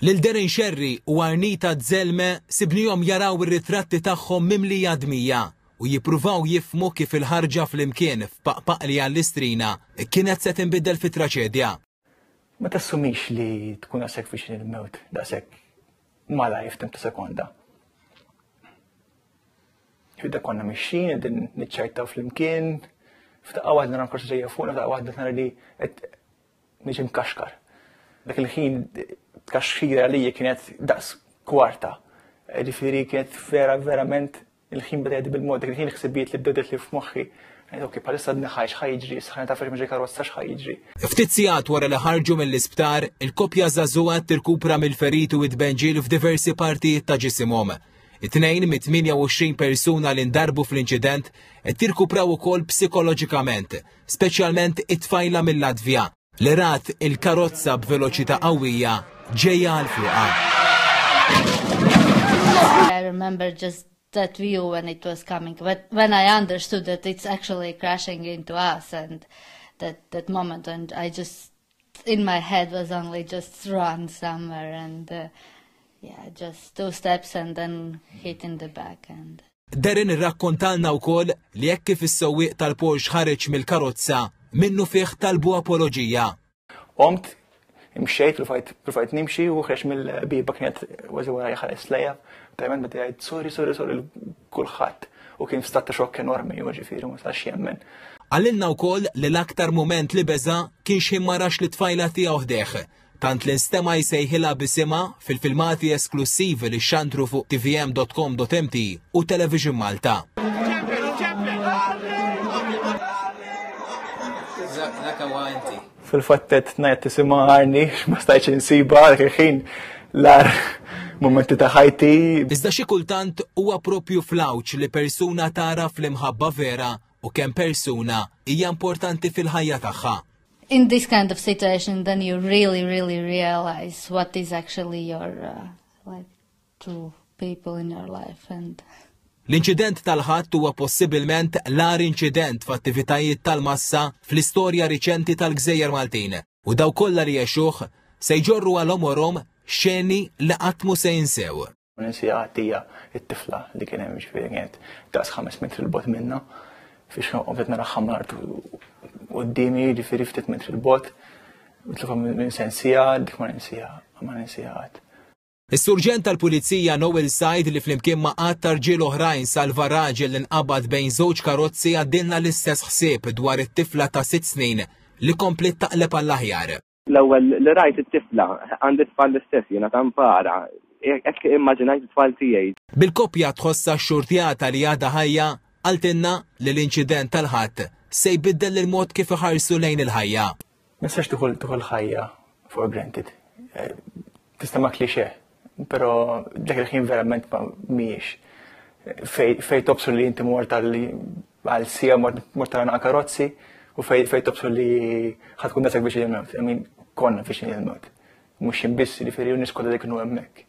Lil Darren Scerri u Arnita Dzelme sibnihom jaraw ir-ritratti tagħhom mimlija dmija u jippruvaw jifhmu kif il-ħarġa flimkien f'Paqpaqli għall-Istrina kienet se tinbidel fi traċedja. Ma tassumix li tkun daqshekk viċin il-mewt, daqshekk malajr f'temp ta' sekonda. Fidda konna mixin, qegħdin niċċajtaw flimkien, f'daqqa waħda nara korsa ġejja fuqna, f'daqqa waħda nara li qed niġi mkaxkar. Dak il-ħin tkaxkira li kienet daqs kwarta. Ġifieri kienet vera verament il-ħin beda jgħaddi bil-mod, dak il-ħin il-ħsibijiet li bdew li f'moħħi. Ok, bħalissa għadni ħaj, x'ħa jiġri, sħana taf x'miġi karozza x'ħa jiġri. Ftit sigħat wara li ħarġu mill-isptar, il-koppja żagħżugħa tirkupra mill-feriti u t-tbenġil f'diversi partijiet ta' ġisimhom. It-tnejn mit-28 persuna li ndarbu fl-inċident qed jirkupraw ukoll psikoloġikament, speċjalment it-tfajla mill-Latvja li rat il-karozza b'veloċità qawwija ġejja għal fuqha. I remember just that view when it was coming, but when I understood that it's actually crashing into us and that, that moment and I just in my head was only just run somewhere and uh, yeah, just two steps and then hit in the back and Darren irrakkontalna wkoll li hekk kif is-sewwieq tal-Porsche ħareġ mill-karozza, minnufih talbu apoloġija. Qomt, imxejt, provajt nimxi u ħreġ mill-bieba kienet kważi wara ħares lejja. Verament beda jgħid sorry, sorry, sorry kulħadd u kien f'stat ta' xokk enormi, u ġifieri ma setax jemmen. Qalilna wkoll li l-aktar mument li beża' kien x'ħin ma rax lit-tfajla tiegħu ħdejh, tant li nstema' jsejħilha b'isimha fil-filmati esklussivi li xxandru fuq tvm.com.mt u Television Malta. Fil-fatt qed ngħid isimha Arni ma stajtx insibha dak il-ħin l-agħar mumenti ta' ħajti. Iżda xi kultant huwa propju fl-għawġ li persuna tagħraf l-imħabba vera u kemm persuna hija importanti fil-ħajja tagħha. In this kind of situation then you really really realize what is actually your uh, like true people in your life and L-inċident tal-Ħadd huwa possibilment l-agħar inċident f'attivitajiet tal-massa fl-istorja riċenti tal-Gżejjer Maltin u dawk kollha li għexuh se jġorru għal għomorhom xeni li qatt mhu se jinsew. Ma ninsiha qatt hija t-tifla li kien hemm ġifieri kienet daqs 5 metri 'l bogħod minna fiex qed naraha mal-art quddiemi ġifieri ftit metri 'l bogħod. Mitlufa minn sensiha dik ma ninsiha ma ninsiha qatt. Is-Surġent tal-Pulizija Noel Said li flimkien ma' għadd ta' rġiel oħrajn salva raġel li nqabad bejn żewġ karozzi għaddilna l-istess ħsieb dwar it-tifla ta' sitt snin li kompliet taqleb għall-aħjar. L-ewwel li rajt it-tifla, għandi tfal l-istess jiena ta' mpara, hekk immaġinajt it-tfal tiegħi. Bil-koppja tħossha xxurtjata li għadha ħajja, qaltilna li l-inċident tal-Ħadd se jbiddel il-mod kif iħarsu lejn il-ħajja. Ma tistax tieħu tieħu l-ħajja for granted. Eh, tista' ma klixe, però dak il-ħin verament ma mhijiex. Fej, fej tobsur li inti mort għal sija mort għal karozzi u fej, fej tobsur li ħatkun dasek biex il-mewt. I mean, konna biex il-mewt. Mhux jien biss, jiġifieri u nies kollha li kienu hemmhekk.